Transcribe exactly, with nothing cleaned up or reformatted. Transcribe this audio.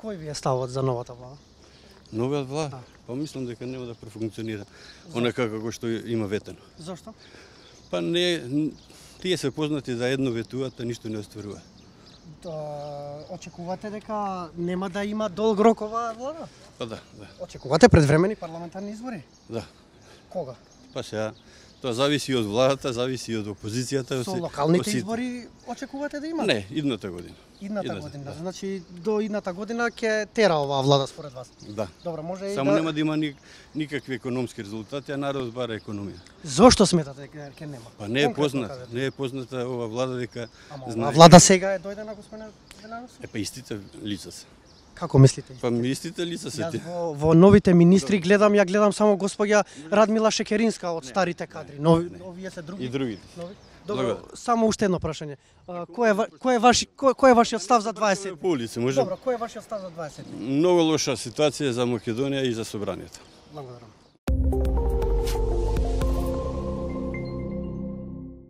Кој ви е ставот за новата влада? Новиот влада? Па мислам дека нема да профункционира онака како што има ветено. Зошто? Па не, тие се познати за едно ветуваат, а ништо не остваруваат. Да, очекувате дека нема да има долг рок оваа влада? Па да, да. Очекувате предвремени парламентарни избори? Да. Кога? Па сега, тоа зависи од владата, зависи од опозицијата. Со локалните избори очекувате да има? Не, идната година. Идната, идната година. Да. Значи до идната година ќе тера оваа влада според вас. Да. Добро, може и Само да... нема да има ни, никакви економски резултати, а народот бара економија. Зошто сметате дека ќе нема? Па не е Конкретно позната, кажете. не е позната ова влада дека Ама знае. оваа влада сега е дојдена господин Веланов? Е па истите лица се. Како мислите? Па истите лица се Јас тие. во, во новите министри гледам, ја гледам само госпоѓа Радмила Шекеринска од старите кадри. Нови, овие се други. И другите. Нови? Добро, Благодарам. само уште едно прашање. А, Кој е ва- кој е ваш кој, кој е вашиот став за дваесет? По улица може. Добро, кој е вашиот став за дваесет? Многу лоша ситуација за Македонија и за собранието. Благодарам.